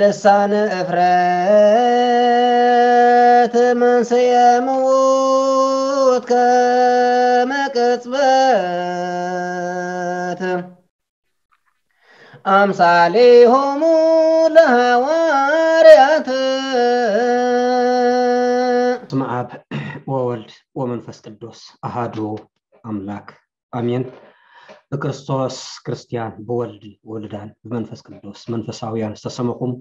ልሳን እፍረት መንስኤ ምዉት ከመ ቅጽበት ኣምሳሌሆሙ ለሐዋርያት። በስመ አብ ወወልድ ወመንፈስ ቅዱስ አሃዱ አምላክ አሜን። ብክርስቶስ ክርስቲያን፣ ብወልድ ውሉዳን፣ ብመንፈስ ቅዱስ መንፈሳውያን ዝተሰመኹም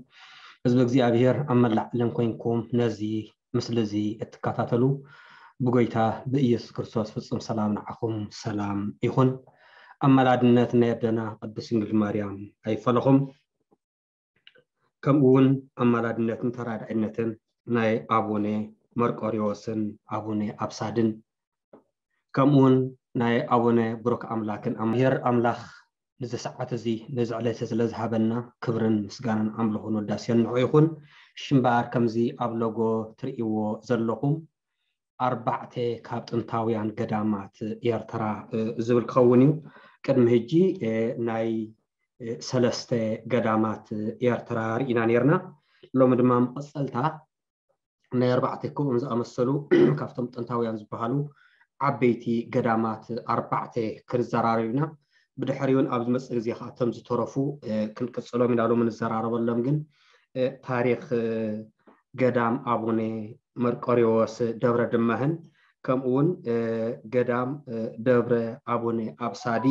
ህዝቢ እግዚኣብሔር ኣብ መላእ ዓለም ኮይንኩም ነዚ ምስሊ እዚ እትከታተሉ ብጎይታ ብኢየሱስ ክርስቶስ ፍጹም ሰላም ንዓኹም ሰላም ይኹን። ኣማላድነት ናይ ኣደና ቅድስት ድንግል ማርያም ኣይፈለኹም። ከምኡ እውን ኣማላድነትን ተራዳኢነትን ናይ ኣቡነ መርቆሪዎስን ኣቡነ ኣብሳድን ከምኡ እውን ናይ ኣቡነ ብሩክ ኣምላክን ኣምሄር ኣምላኽ ንዚ ሰዓት እዚ ነዚ ዕለት ስለ ዝሃበና ክብርን ምስጋናን ኣምልኾን ውዳሴን ንዑ ይኹን። ሽምበኣር ከምዚ ኣብ ሎጎ ትርእይዎ ዘለኹም ኣርባዕተ ካብ ጥንታውያን ገዳማት ኤርትራ ዝብል ክኸውን እዩ። ቅድሚ ሕጂ ናይ ሰለስተ ገዳማት ኤርትራ ርኢና ነርና። ሎሚ ድማ መቐጸልታ ናይ ኣርባዕተ ከምኦም ዝኣመሰሉ ካብቶም ጥንታውያን ዝበሃሉ ዓበይቲ ገዳማት ኣርባዕተ ክንዘራረብ ኢና። ብድሕሪውን ኣብ ዝመጽእ ግዜ ከዓ እቶም ዝተረፉ ክንቅጽሎም ኢና። ሎሚ ንዘራረበሎም ግን ታሪኽ ገዳም ኣቡነ መርቆሪዎስ ደብረ ድማህን ከምኡ እውን ገዳም ደብረ ኣቡነ ኣብሳዲ፣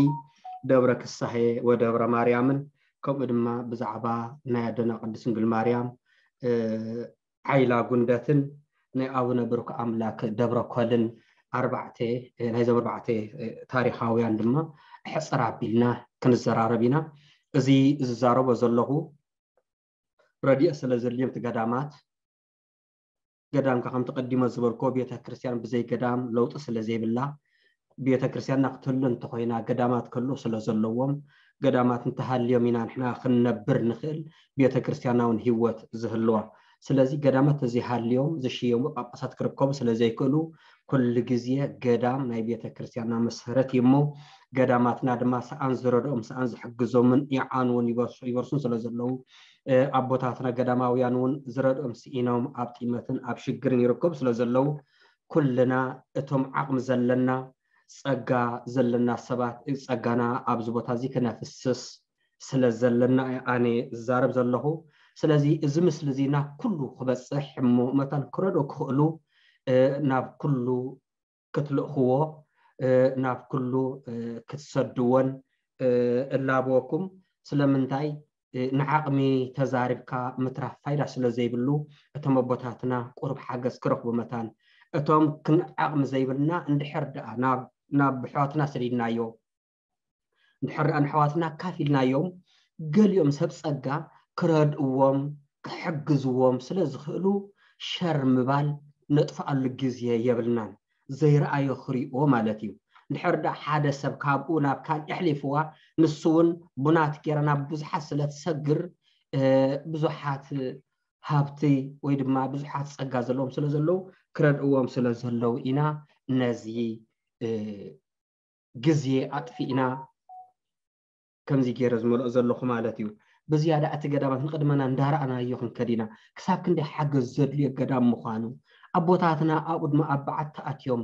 ደብረ ክሳሄ ወደብረ ማርያምን ከምኡ ድማ ብዛዕባ ናይ ኣደና ቅድስት ድንግል ማርያም ዓይላ ጉንደትን ናይ ኣቡነ ብሩክ ኣምላክ ደብረ ኮልን ኣርባዕተ ናይዞም ኣርባዕተ ታሪኻውያን ድማ ሕፅር ኣቢልና ክንዘራረብ ኢና። እዚ ዝዛረቦ ዘለኹ ረድኤት ስለ ዘድልዮም እቲ ገዳማት ገዳም ከ ከምቲ ቀዲመ ዝበልኮ ቤተ ክርስቲያን ብዘይ ገዳም ለውጢ ስለ ዘይብላ ቤተ ክርስቲያንና ክትህሉ እንተኮይና ገዳማት ክህሉ ስለ ዘለዎም ገዳማት እንተሃልዮም ኢና ንሕና ክንነብር ንኽእል ቤተ ክርስቲያንና እውን ህይወት ዝህልዋ። ስለዚ ገዳማት ተዘይሃልዮም ዝሽየሙ ጳጳሳት ክርከቡ ስለ ዘይክእሉ ኩሉ ግዜ ገዳም ናይ ቤተ ክርስቲያንና መሰረት እዩ እሞ ገዳማትና ድማ ሰኣን ዝረድኦም ሰኣን ዝሕግዞምን ይዓንውን ይበርሱን ስለ ዘለዉ ኣቦታትና ገዳማውያን እውን ዝረድኦም ስኢኖም ኣብ ጢመትን ኣብ ሽግርን ይርከቡ ስለ ዘለዉ ኩልና እቶም ዓቕሚ ዘለና ጸጋ ዘለና ሰባት ጸጋና ኣብዚ ቦታ እዚ ክነፍስስ ስለ ዘለና ኣነ ዝዛረብ ዘለኹ። ስለዚ እዚ ምስሊ እዚ ናብ ኩሉ ክበጽሕ እሞ መታን ክረድኦ ክኽእሉ ናብ ኩሉ ክትልእኽዎ ናብ ኩሉ ክትሰድዎን እላበወኩም። ስለምንታይ ንዓቕሚ ተዛሪብካ ምትራፍ ፋይዳ ስለ ዘይብሉ እቶም ኣቦታትና ቁሩብ ሓገዝ ክረኽቡ መታን እቶም ክንዓቕሚ ዘይብልና እንድሕር ደኣ ናብ ኣሕዋትና ሰዲድናዮ እንድሕር ደኣ ንኣሕዋትና ኣካፊልናዮም ገሊኦም ሰብ ጸጋ ክረድእዎም ክሕግዝዎም ስለ ዝኽእሉ ሸር ምባል ነጥፍኣሉ ግዜ የብልናን። ዘይረኣዮ ክሪኦ ማለት እዩ። እንድሕር ደኣ ሓደ ሰብ ካብኡ ናብ ካልእ ኣሕሊፍዋ ንሱ እውን ቡናት ገይራ ናብ ብዙሓት ስለ ትሰግር ብዙሓት ሃብቲ ወይ ድማ ብዙሓት ጸጋ ዘለዎም ስለ ዘለዉ ክረድእዎም ስለ ዘለዉ ኢና ነዚ ግዜ ኣጥፊእና ከምዚ ገይረ ዝመልኦ ዘለኹ ማለት እዩ። ብዝያዳ እቲ ገዳማት ንቕድመና እንዳረኣናዮ ክንከድ ኢና። ክሳብ ክንደይ ሓገዝ ዘድልዮ ገዳም ምዃኑ ኣቦታትና ኣብኡ ድማ ኣብ በዓቲ ኣትዮም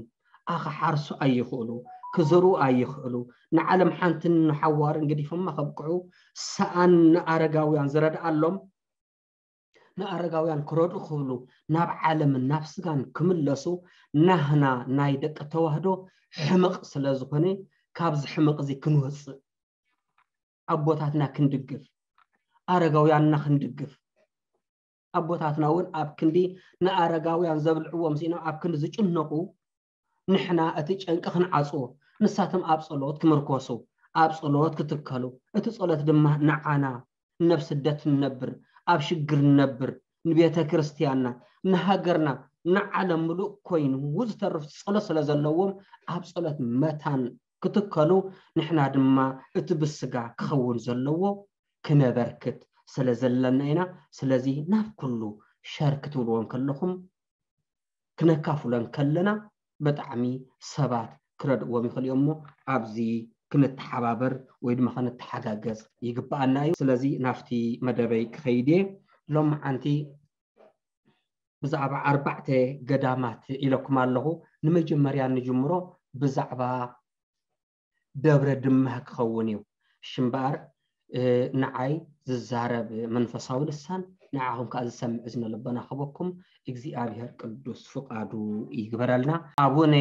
ኣኽሓርሱ ኣይኽእሉ፣ ክዘርኡ ኣይኽእሉ፣ ንዓለም ሓንትን ንሓዋርን ገዲፎማ ከብቅዑ ሰኣን ንኣረጋውያን ዝረድኣሎም ንኣረጋውያን ክረድኡ ክብሉ ናብ ዓለምን ናብ ስጋን ክምለሱ ናህና ናይ ደቂ ተዋህዶ ሕመቕ ስለ ዝኾነ ካብዚ ሕመቕ እዚ ክንወፅእ ኣቦታትና ክንድግፍ ኣረጋውያንና ክንድግፍ ኣቦታትና እውን ኣብ ክንዲ ንኣረጋውያን ዘብልዕዎም ስኢኖም ኣብ ክንዲ ዝጭነቑ ንሕና እቲ ጨንቂ ክንዓፅዎ ንሳቶም ኣብ ፀሎት ክምርኮሱ ኣብ ፀሎት ክትከሉ እቲ ፀሎት ድማ ንዓና ነብ ስደት ንነብር ኣብ ሽግር ንነብር ንቤተ ክርስቲያንና ንሃገርና ንዓለም ምሉእ ኮይኑ ዝተርፍ ፀሎት ስለ ዘለዎም ኣብ ፀሎት መታን ክትከሉ ንሕና ድማ እቲ ብስጋ ክኸውን ዘለዎ ክነበርክት ስለ ዘለና ኢና። ስለዚ ናብ ኩሉ ሸር ክትብልዎም ከለኹም ክነካፍሎን ከለና ብጣዕሚ ሰባት ክረድእዎም ይኽእሉ እዮም እሞ ኣብዚ ክንተሓባበር ወይ ድማ ክንተሓጋገዝ ይግብኣና እዩ። ስለዚ ናብቲ መደበይ ክኸይድ እየ። ሎማዓንቲ ብዛዕባ ኣርባዕተ ገዳማት ኢለኩም ኣለኹ። ንመጀመርያ ንጅምሮ ብዛዕባ ደብረ ድማህ ክኸውን እዩ። ሽምበኣር ንዓይ ዝዛረብ መንፈሳዊ ልሳን ንዓኹም ከዓ ዝሰምዕ እዝነ ልቦና ክበኩም እግዚኣብሔር ቅዱስ ፍቃዱ ይግበረልና። ኣቡነ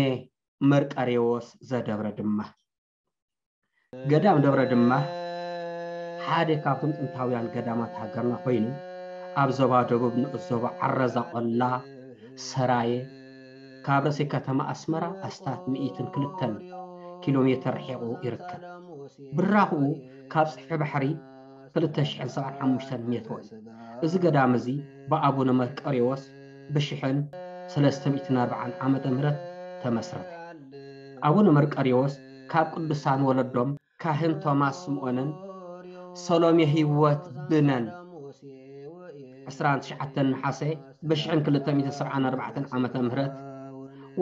መርቀሬዎስ ዘደብረ ድማህ። ገዳም ደብረ ድማህ ሓደ ካብቶም ጥንታውያን ገዳማት ሃገርና ኮይኑ ኣብ ዞባ ደቡብ ንዑስ ዞባ ዓረዛ ቆላ ሰራየ ካብ ርእሲ ከተማ ኣስመራ ኣስታት ሚእትን ክልተን ኪሎ ሜትር ርሒቑ ይርከብ። ብራኽኡ ካብ ጽፍሒ ባሕሪ ክልተ ሽሕን ሰብዓን ሓሙሽተን ሜትሮ እዩ። እዚ ገዳም እዚ ብኣቡነ መርቀሬዎስ ብሽሕን ሰለስተ ሚእትን ኣርባዓን ዓመተ ምህረት ተመስረተ። ኣቡነ መርቀሬዎስ ካብ ቅዱሳን ወለዶም ካህን ቶማስ ስምኦንን ሰሎሜ ህይወት ብነን ዕስራን ትሽዓተን ነሓሰ ብሽሕን ክልተ ሚእትን ሰብዓን ኣርባዕተን ዓመተ ምህረት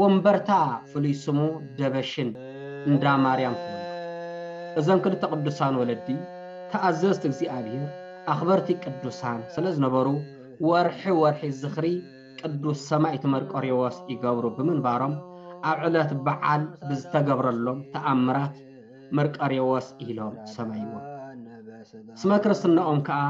ወንበርታ ፍሉይ ስሙ ደበሽን እንዳ ማርያም ተወልዱ። እዞም ክልተ ቅዱሳን ወለዲ ተኣዘዝቲ እግዚኣብሔር ኣኽበርቲ ቅዱሳን ስለ ዝነበሩ ወርሒ ወርሒ ዝኽሪ ቅዱስ ሰማዕት መርቆሬዎስ ይገብሩ ብምንባሮም ኣብ ዕለት በዓል ብዝተገብረሎም ተኣምራት መርቆሬዎስ ኢሎም ሰመይዎም። ስመ ክርስትናኦም ከዓ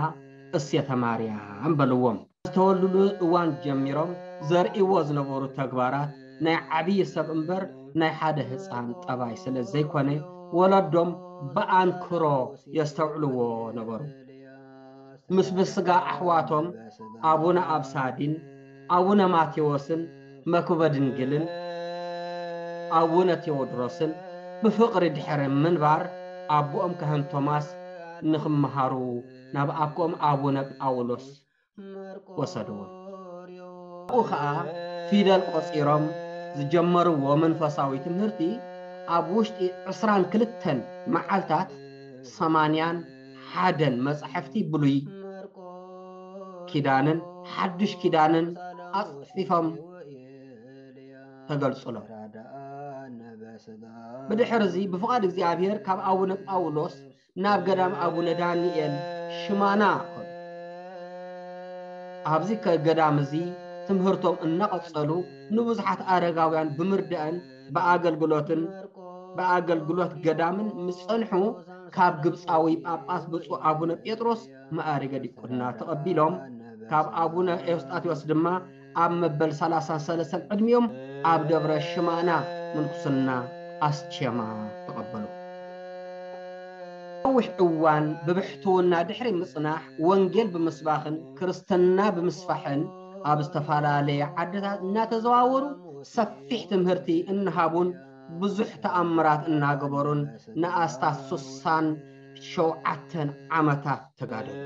እሴተ ማርያም በልዎም። ዝተወልዱሉ እዋን ጀሚሮም ዘርእይዎ ዝነበሩ ተግባራት ናይ ዓብዪ ሰብ እምበር ናይ ሓደ ህፃን ጠባይ ስለ ዘይኮነ ወለዶም ብኣንክሮ የስተውዕልዎ ነበሩ። ምስ ብስጋ ኣሕዋቶም ኣቡነ ኣብሳዲን ኣቡነ ማቴዎስን መክበ ድንግልን ኣቡነ ቴዎድሮስን ብፍቕሪ ድሕሪ ምንባር ኣቦኦም ካህን ቶማስ ንኽመሃሩ ናብ ኣኮም ኣቡነ ጳውሎስ ወሰድዎም። ኣብኡ ኸዓ ፊደል ቆጺሮም ዝጀመርዎ መንፈሳዊ ትምህርቲ ኣብ ውሽጢ ዕስራን ክልተን መዓልታት ሰማንያን ሓደን መጻሕፍቲ ብሉይ ኪዳንን ሓድሽ ኪዳንን ኣጽፊፎም ተገልጹሎም። ብድሕር እዚ ብፍቓድ እግዚኣብሔር ካብ ኣቡነ ጳውሎስ ናብ ገዳም ኣቡነ ዳንኤል ሽማና ከዱ። ኣብዚ ከ-፣ ገዳም እዚ ትምህርቶም እናቐጸሉ ንብዙሓት ኣረጋውያን ብምርዳእን ብኣገልግሎትን ብኣገልግሎት ገዳምን ምስ ጸንሑ ካብ ግብጻዊ ጳጳስ ብፁዕ ኣቡነ ጴጥሮስ መኣርገ ዲቁና ተቐቢሎም ካብ ኣቡነ ኤውስጣቴዎስ ድማ ኣብ መበል ሰላሳን ሰለስተን ዕድሚኦም ኣብ ደብረ ሽማና ምንኩስና ኣስኬማ ተቐበሉ። ነዊሕ እዋን ብብሕትውና ድሕሪ ምጽናሕ ወንጌል ብምስባኽን ክርስትና ብምስፋሕን ኣብ ዝተፈላለየ ዓድታት እናተዘዋወሩ ሰፊሕ ትምህርቲ እናሃቡን ብዙሕ ተኣምራት እናገበሩን ንኣስታት ሱሳን ሸውዓተን ዓመታት ተጋደሉ።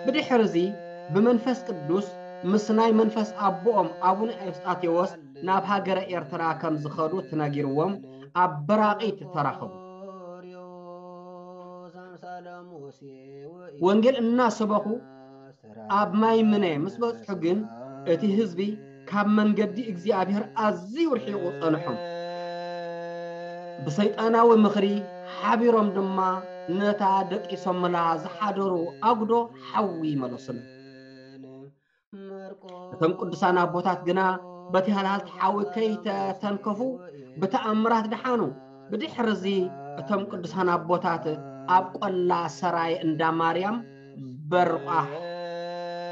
ብድሕር እዚ ብመንፈስ ቅዱስ ምስ ናይ መንፈስ ኣቦኦም ኣቡነ ኤውስጣቴዎስ ናብ ሃገረ ኤርትራ ከም ዝኸዱ ተነጊርዎም ኣብ በራቒት ተራኸቡ። ወንጌል እናሰበኹ ኣብ ማይ ምነ ምስ በጽሑ ግን እቲ ህዝቢ ካብ መንገዲ እግዚኣብሔር ኣዝዩ ርሒቑ ጸንሖም። ብሰይጣናዊ ምኽሪ ሓቢሮም ድማ ነታ ደቂሶምላ ዝሓደሩ ኣጉዶ ሓዊ መለሱላ። እቶም ቅዱሳን ኣቦታት ግና በቲ ሃልሃልቲ ሓዊ ከይተተንከፉ ብተኣምራት ደሓኑ። ብድሕር እዚ እቶም ቅዱሳን ኣቦታት ኣብ ቆላ ሰራየ እንዳ ማርያም በርቋሕ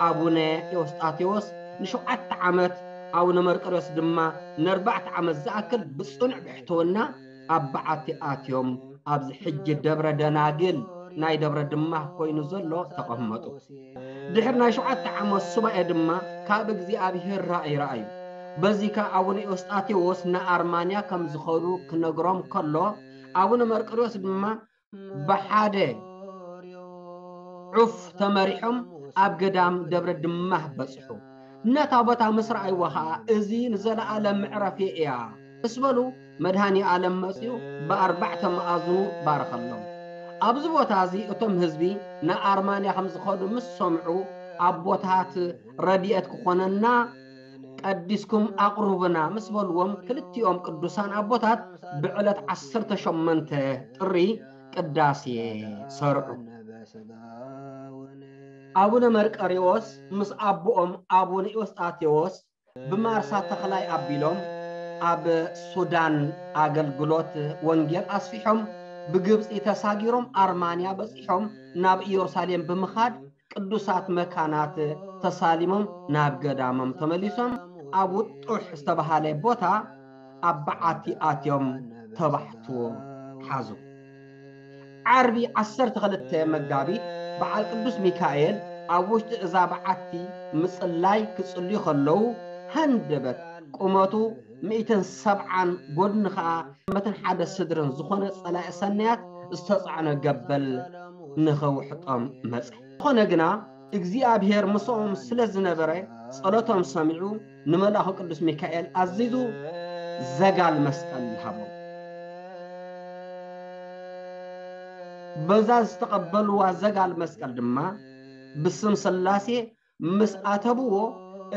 ኣቡነ ኤዎስጣቴዎስ ንሸውዓተ ዓመት፣ ኣቡነ መርቆሬዎስ ድማ ንኣርባዕተ ዓመት ዝኣክል ብጽኑዕ ብሕትውና ኣብ በዓቲ ኣትዮም ኣብዚ ሕጂ ደብረ ደናግል ናይ ደብረ ድማህ ኮይኑ ዘሎ ተቐመጡ። ድሕሪ ናይ ሸውዓተ ዓመት ሱባኤ ድማ ካብ እግዚኣብሔር ራእይ ረኣዩ። በዚ ከኣ ኣቡነ ኤዎስጣቴዎስ ንኣርማንያ ከም ዝኸዱ ክነግሮም ከሎ ኣቡነ መርቆሬዎስ ድማ ብሓደ ዑፍ ተመሪሖም ኣብ ገዳም ደብረ ድማህ በጽሑ። ነታ ቦታ ምስ ረኣይዋ ኸኣ እዚ ንዘለኣለም መዕረፊ እያ ምስ በሉ መድሃኒ ኣለም መጺኡ ብኣርባዕተ መኣዝኑ ባረኸሎም። ኣብዚ ቦታ እዚ እቶም ህዝቢ ንኣርማንያ ከም ዝኸዱ ምስ ሰምዑ ኣቦታት ረድኤት ክኾነና ቀዲስኩም ኣቕርቡና ምስ በልዎም፣ ክልቲኦም ቅዱሳን ኣቦታት ብዕለት ዓሰርተ ሸሞንተ ጥሪ ቅዳሴ ሰርዑ። ኣቡነ መርቀሪዎስ ምስ ኣቦኦም ኣቡነ ኤዎስጣቴዎስ ብማርሳ ተኽላይ ኣቢሎም ኣብ ሱዳን ኣገልግሎት ወንጌል ኣስፊሖም፣ ብግብፂ ተሳጊሮም ኣርማንያ በፂሖም፣ ናብ ኢየሩሳሌም ብምኻድ ቅዱሳት መካናት ተሳሊሞም ናብ ገዳሞም ተመሊሶም፣ ኣብ ውጡሕ ዝተባሃለ ቦታ ኣብ በዓቲ ኣትዮም ተባሕትዎ ሓዙ። ዓርቢ ዓሰርተ ክልተ መጋቢት በዓል ቅዱስ ሚካኤል ኣብ ውሽጢ እዛ በዓቲ ምጽላይ ክጽልዩ ከለዉ፣ ሃንደበት ቁመቱ ሚእትን ሰብዓን፣ ጎድኒ ኸኣ ዓመትን ሓደ ስድርን ዝኾነ ጸላኢ ሰናያት ዝተጻዕነ ገበል ንኸውሕጦም መጸ። ዝኾነ ግና እግዚኣብሔር ምስኦም ስለ ዝነበረ፣ ጸሎቶም ሰሚዑ ንመልኣኹ ቅዱስ ሚካኤል ኣዚዙ ዘጋል መስቀል ሃቦም። በዛ ዝተቐበልዋ ዘጋል መስቀል ድማ ብስም ሥላሴ ምስ ኣተብዎ፣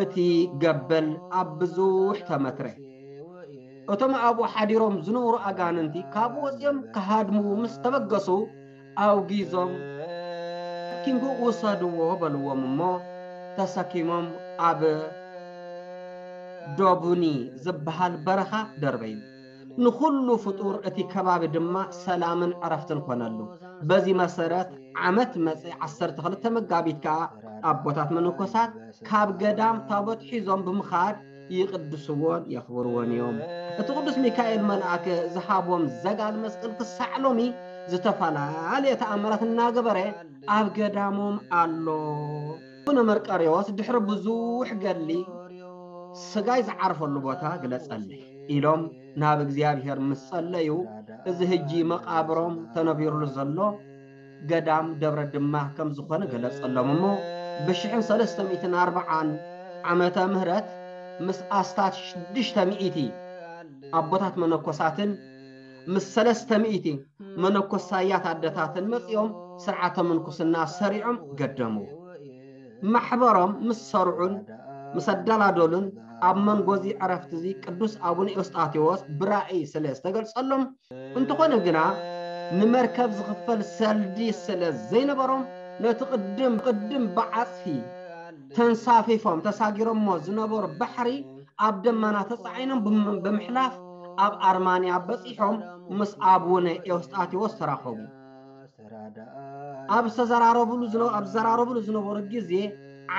እቲ ገበል ኣብ ብዙሕ ተመትረ። እቶም ኣብኡ ሓዲሮም ዝነበሩ ኣጋንንቲ ካብኡ ወጺኦም ክሃድምዉ ምስ ተበገሱ፣ ኣውጊዞም፣ "ተሰኪምኩ ውሰድዎ" በልዎም እሞ፣ ተሰኪሞም ኣብ ዶቡኒ ዝበሃል በረኻ ደርበዩ። ንኹሉ ፍጡር እቲ ከባቢ ድማ ሰላምን ዕረፍትን ኮነሉ። በዚ መሰረት ዓመት መጸ ዓሰርተ ክልተ መጋቢት ከኣ ኣቦታት መነኮሳት ካብ ገዳም ታቦት ሒዞም ብምኻድ ይቅድስዎን የኽብርዎን እዮም። እቲ ቅዱስ ሚካኤል መልኣክ ዝሃቦም ዘጋል መስቀል ክሳዕ ሎሚ ዝተፈላለየ ተኣምራት እናገበረ ኣብ ገዳሞም ኣሎ። ኣቡነ መርቀሬዎስ ድሕሪ ብዙሕ ገድሊ "ስጋይ ዝዓርፈሉ ቦታ ግለጸለይ" ኢሎም ናብ እግዚኣብሔር ምስ ጸለዩ፣ እዚ ሕጂ መቃብሮም ተነቢሩሉ ዘሎ ገዳም ደብረ ድማ ከም ዝኾነ ገለጸሎም እሞ፣ ብሽሕን ሰለስተ ሚእትን ኣርብዓን ዓመተ ምህረት ምስ ኣስታት ሽዱሽተ ሚእቲ ኣቦታት መነኮሳትን ምስ ሰለስተ ሚእቲ መነኮሳያት ኣደታትን መጺኦም ስርዓተ ምንኩስና ሰሪዖም ገደምዎ። ማሕበሮም ምስ ሰርዑን ምስ ኣደላደሉን፣ ኣብ መንጎዚ ዕረፍትዚ ቅዱስ ኣቡነ ኤዎስጣቴዎስ ብራእይ ስለ ዝተገልጸሎም፣ እንተኾነ ግና ንመርከብ ዝኽፈል ሰልዲ ስለ ዘይነበሮም፣ ነቲ ቅድም ቅድም ብዓጽፊ ተንሳፊፎም ተሳጊሮሞ ዝነበሩ ባሕሪ ኣብ ደመና ተጻዒኖም ብም-፣ ብምሕላፍ ኣብ ኣርማንያ በጺሖም ምስ ኣቡነ ኤዎስጣቴዎስ ተራኸቡ። ኣብ ዝተዘራረቡሉ ዝነ-፣ ኣብ ዝዘራረቡሉ ዝነበሩ ግዜ፣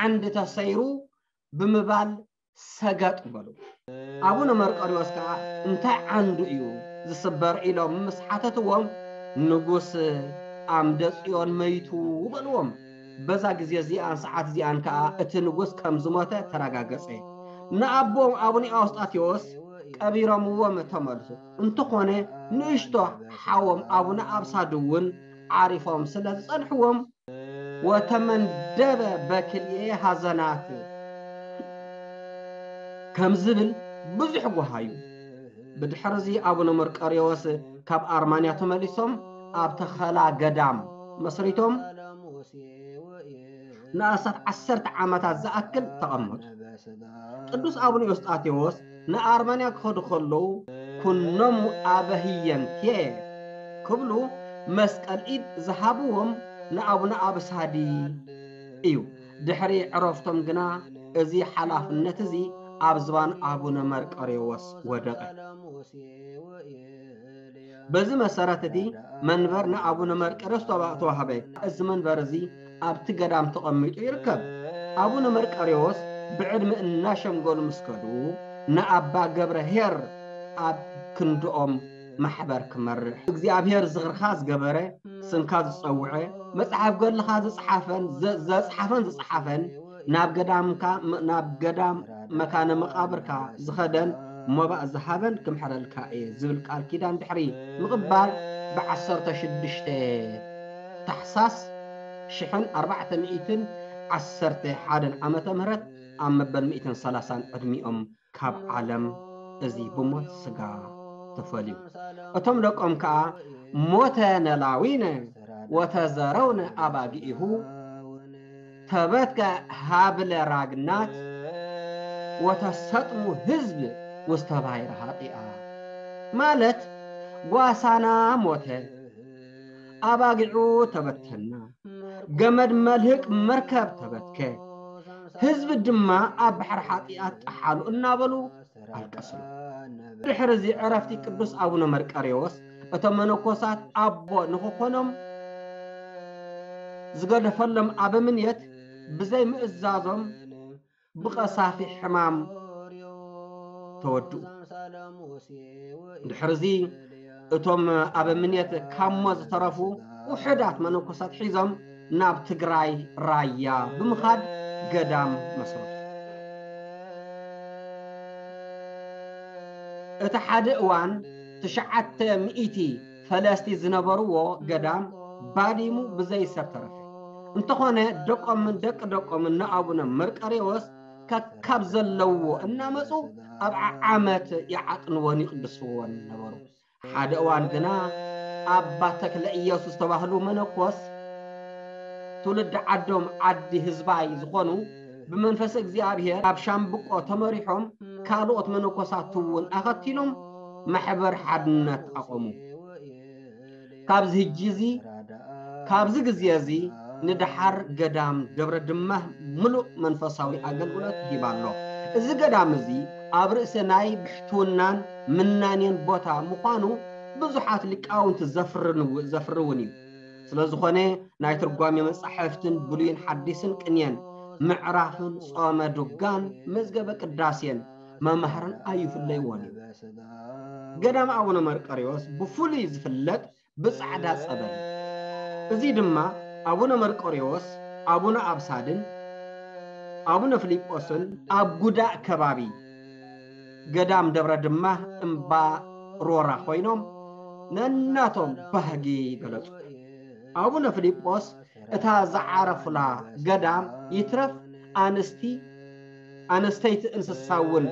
"ዓንዲ ተሰይሩ" ብምባል ሰገጥ በሉ። ኣቡነ መርቆሬዎስ ከኣ፣ "እንታይ ዓንዱ እዩ ዝስበር?" ኢሎም ምስ ሓተትዎም፣ "ንጉስ ኣምደ ጽዮን መይቱ" በልዎም። በዛ ግዜ እዚኣን ሰዓት እዚኣን ከኣ እቲ ንጉስ ከም ዝሞተ ተረጋገጸ። ንኣቦም ኣቡነ ኤዎስጣቴዎስ ቀቢሮምዎም ተመልሱ። እንተኾነ ንእሽቶ ሓዎም ኣቡነ ኣብሳድ እውን ዓሪፎም ስለ ዝጸንሕዎም፣ "ወተመንደበ በክልኤ ሐዘናት" ከም ዝብል ብዙሕ ጓሃዩ። ብድሕርዚ ኣቡነ መርቆሬዎስ ካብ ኣርማንያ ተመሊሶም ኣብ ተኸላ ገዳም መስሪቶም ንኣስታት ዓሰርተ ዓመታት ዝኣክል ተቐመጡ። ቅዱስ ኣቡነ ኤዎስጣቴዎስ ንኣርማንያ ክኸዱ ከለዉ፣ "ኩኖሙ ኣበህየንቴ" ክብሉ መስቀል ኢድ ዝሃብዎም ንኣቡነ ኣብሳዲ እዩ። ድሕሪ ዕረፍቶም ግና እዚ ሓላፍነት እዚ ኣብ ዝባን ኣቡነ መርቆሬዎስ ወደቐ። በዚ መሰረት እቲ መንበር ንኣቡነ መርቆሬዎስ ተዋ-፣ ተዋህበ። እዚ መንበር እዚ ኣብቲ ገዳም ተቐሚጡ ይርከብ። ኣቡነ መርቆሬዎስ ብዕድመ እናሸምገሉ ምስ ከዱ፣ ንኣባ ገብረ ኄር ኣብ ክንድኦም ማሕበር ክመርሕ፣ "እግዚኣብሔር ዝኽርኻ ዝገበረ፣ ስምካ ዝጸውዐ፣ መጽሓፍ ገድልኻ ዝጸሓፈን ዘ-፣ ዘጽሓፈን ዝጸሓፈን፣ ናብ ገዳምካ፣ ም-፣ ናብ ገዳም መካነ መቓብርካ ዝኸደን መባእ ዝሃበን ክምሕረልካ እየ" ዝብል ቃል ኪዳን ድሕሪ ምቕባል፣ ብዓሰርተ ሽዱሽተ ታሕሳስ ሽሕን ኣርባዕተ ሚእትን ዓሰርተ ሓደን ዓመተ ምህረት ኣብ መበል ሚእትን ሰላሳን ዕድሚኦም ካብ ዓለም እዚ ብሞት ስጋ ተፈልዩ። እቶም ደቆም ከኣ፣ "ሞተ ነላዊነ ወተዘረውነ ኣባጊኢሁ፣ ተበትከ ሃብለ ራግናት፣ ወተሰጥሙ ህዝብ ውስተ ባሕሪ ኃጢኣ ማለት ጓሳና ሞተ፣ ኣባጊዑ ተበተና፣ ገመድ መልህቅ መርከብ ተበትከ፣ ህዝብ ድማ ኣብ ባሕሪ ኃጢኣት ጠሓሉ እናበሉ ኣልቀስሉ። ድሕሪ እዚ ዕረፍቲ ቅዱስ ኣቡነ መርቀሬዎስ እቶም መነኮሳት ኣቦ ንኽኾኖም ዝገደፈሎም ኣበምኔት ብዘይ ምእዛዞም ብቐሳፊ ሕማም ተወድኡ። ድሕርዚ እቶም ኣበምኔት ካብ ሞት ዝተረፉ ውሑዳት መነኮሳት ሒዞም ናብ ትግራይ ራያ ብምኻድ ገዳም መስረቱ። እቲ ሓደ እዋን ትሽዓተ ሚእቲ ፈለስቲ ዝነበርዎ ገዳም ባዲሙ ብዘይ ሰብ ተረፈ። እንተኾነ ደቆምን ደቂ ደቆምን ንኣቡነ መርቀሬዎስ ከካብ ዘለዎ እናመጹ ኣብ ዓዓመት ይዓጥንዎን ይቕድስዎን ነበሩ። ሓደ እዋን ግና ኣባ ተክለ ኢየሱስ ተባህሉ መነኮስ ትውልዲ ዓዶም ዓዲ ህዝባይ ዝኾኑ ብመንፈስ እግዚኣብሔር ኣብ ሻምብቆ ተመሪሖም ካልኦት መነኮሳት እውን ኣኸቲሎም ማሕበር ሓድነት ኣቆሙ። ካብዚ ህጂ እዚ ካብዚ ግዜ እዚ ንደሓር ገዳም ደብረ ድማህ ምሉእ መንፈሳዊ ኣገልግሎት ሂባ ኣሎ። እዚ ገዳም እዚ ኣብ ርእሲ ናይ ብሕትውናን ምናኔን ቦታ ምዃኑ ብዙሓት ሊቃውንቲ ዘፍርንው-፣ ዘፍርውን እዩ። ስለ ዝኾነ ናይ ትርጓሜ መጻሕፍትን ብሉይን ሓዲስን ቅኔን ምዕራፍን ጾመ ዱጋን መዝገበ ቅዳሴን መማህርን ኣይፍለይዎን እዩ። ገዳም ኣቡነ መርቆሬዎስ ብፍሉይ ዝፍለጥ ብጻዕዳ ጸበል። እዚ ድማ ኣቡነ መርቆሬዎስ፣ ኣቡነ ኣብሳድን ኣቡነ ፊልጶስን ኣብ ጉዳእ ከባቢ ገዳም ደብረ ድማ እምባ ሮራ ኮይኖም ነናቶም ባህጊ ገለጹ። ኣቡነ ፊልጶስ እታ ዝዓረፉላ ገዳም ይትረፍ ኣንስቲ ኣነስተይቲ እንስሳ እውን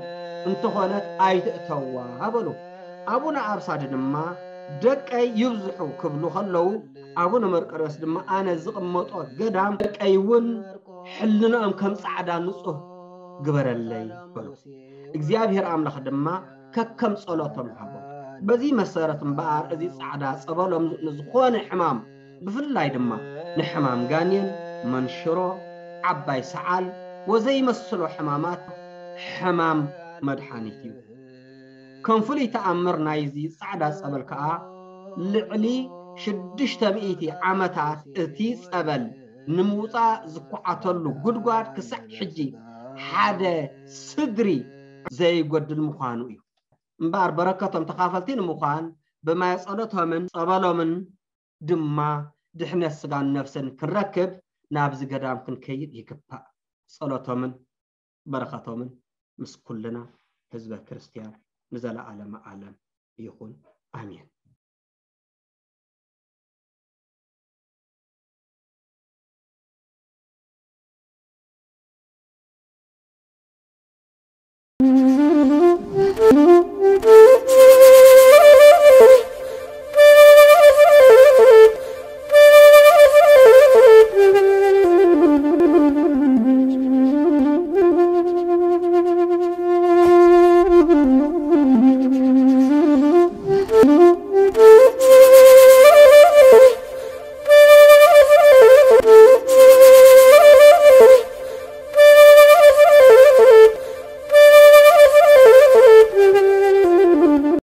እንተኾነት ኣይትእተዋ በሉ። ኣቡነ ኣብሳድ ድማ ደቀይ ይብዝሑ ክብሉ ከለዉ ኣቡነ መርቆሬዎስ ድማ ኣነ ዝቕመጦ ገዳም ደቀይ እውን ሕልንኦም ከም ጻዕዳ ንጹህ ግበረለይ በሉ። እግዚኣብሔር ኣምላኽ ድማ ከከም ጸሎቶም ሃቦም። በዚ መሰረት እምበኣር እዚ ጻዕዳ ጸበሎም ንዝኾነ ሕማም ብፍላይ ድማ ንሕማም ጋኔን፣ መንሽሮ፣ ዓባይ ሰዓል ወዘይመስሎ ሕማማት ሕማም መድሓኒት እዩ። ከም ፍሉይ ተኣምር ናይዚ ጻዕዳ ጸበል ከኣ ልዕሊ ሽዱሽተ ሚእቲ ዓመታት እቲ ጸበል ንምውጻእ ዝኳዓተሉ ጉድጓድ ክሳዕ ሕጂ ሓደ ስድሪ ዘይጎድል ምዃኑ እዩ። እምበኣር በረከቶም ተኻፈልቲ ንምዃን ብማየ ጸሎቶምን ጸበሎምን ድማ ድሕነት ስጋን ነፍስን ክንረክብ ናብዚ ገዳም ክንከይድ ይግባእ። ጸሎቶምን በረኸቶምን ምስ ኩልና ህዝበ ክርስትያን ንዘለዓለመ ዓለም ይኹን። ኣሜን።